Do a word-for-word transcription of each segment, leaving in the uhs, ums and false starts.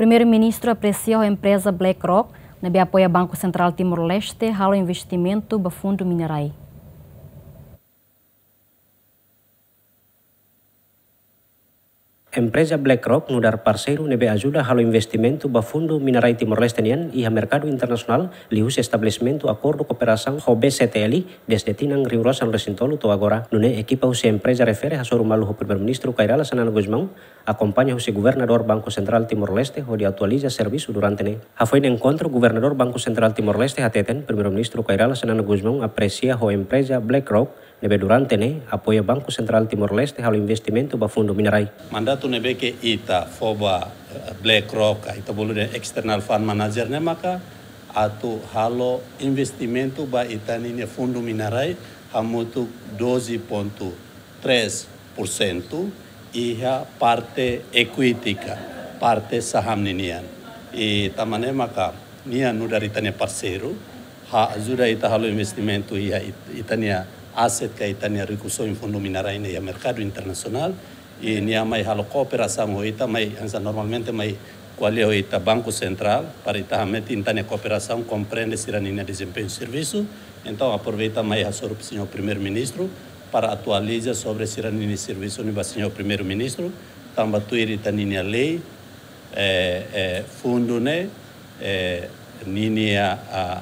Primeiru-Ministru apresia ho empreza BlackRock ne'ebé apoia Banku Sentrál Timor-Leste halo investimentu ba fundu minerai. Empreza BlackRock nu'udar parseiru ne'ebé ajuda halo investimentu ba fundu minerai Timor-Leste nian iha merkadu internasionál, liuhusi estabelesimentu akordu kooperasaun ho B C T L dezde tinan rihun rua sanulu-resin-tolu to'o agora. Nune'e ekipa husi empreza refere hasoru malu ho Primeiru-Ministru Kay Rala Xanana Gusmão, akompaña husi Governadór Banku Sentrál Timor-Leste hodi atualiza servisu durante ne'e. Hafoin enkontru, Governadór Banku Sentrál Timor-Leste hateten, Primeiru-Ministru Kay Rala Xanana Gusmão apresia ho empreza BlackRock ne'ebé durante ne'e apoia Banku Sentrál Timor-Leste halo investimentu ba fundu minerai. Mandatu ne'ebé ke ita fó ba, eh, BlackRock, ita bolu dehan external fund manager ne'e maka atu halo investimentu ba ita-nia fundu minerai hamutuk doze ponto três por cento iha parte equity ka, parte saham ninian. I tanba ne'e maka nia nu'udar ita-nia parseiru, hodi ajuda ita halo investimentu iha it-, ita-nia aset ka ita-nia rekursu fundu minerai ne'e iha merkadu internasionál. I nia mai halo kooperasaun ho ita, mai hanesan normalmente mai ko'alia ho ita Banku Sentrál, para ita hametin ita-nia kooperasaun, komprende sira-nia dezempeñu servisu. Entaun, aproveita mai hasoru Señór Primeiru-Ministru para atualiza sobre sira-nia servisu ne'e ba Señór Primeiru-Ministru, tanba tuir ita-nia lei, eh, eh, fundu ne'e, eh, ninia, ah,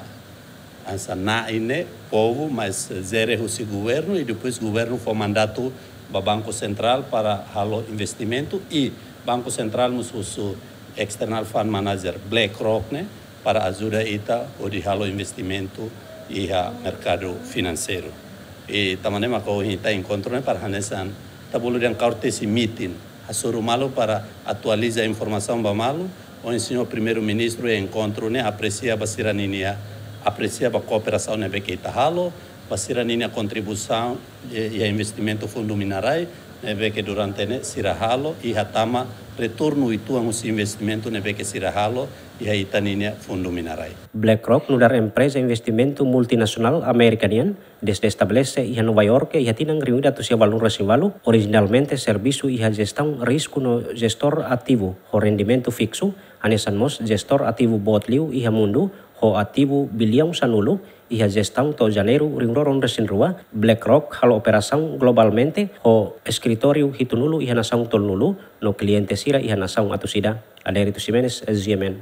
hanesan na'in ne'e povu, mas jere husi governu, i depois governu fó mandatu ba Banku Sentrál para halo investimentu, i Banku Sentrál mós uza external fund manager BlackRock ne'e para ajuda ita hodi halo investimentu iha merkadu finanseiru. I tanba ne'e maka ohin ita enkontru ne'e para hanesan, ita bolu dehan courtesy meeting, hasoru malu para atualiza informasaun ba malu. Ohin Señór Primeiru-Ministru iha enkontru ne'e apresia ba sira-nia, apresia ba kooperasaun ne'ebé ke ita halo, ba sira-nia kontribuisaun, eh, iha investimentu fundu minerai ne'ebé ke durante ne'e sira halo, i hatama retornu uitoan husi investimentu ne'ebé ke sira halo iha ita-nia fundu minerai. BlackRock nu'udar empreza investimentu multinasionál Amérika nian, dezde estabelese iha Nova Iorke iha tinan rihun ida atus sia ualunulu-resin-ualu, orijinalmente servisu iha jestaun risku no jestór ativu ho rendimentu fiksu, hanesan mós jestór ativu boot liu iha mundu, ho ativu biliaun sanulu, iha jestaun to'o Janeiru rihun rua ruanulu-resin-rua, BlackRock halo operasaun globalmente ho eskritóriu hitunulu iha nasaun tolunulu, no kliente sira iha nasaun atus ida. Adérito Ximenes, G M N.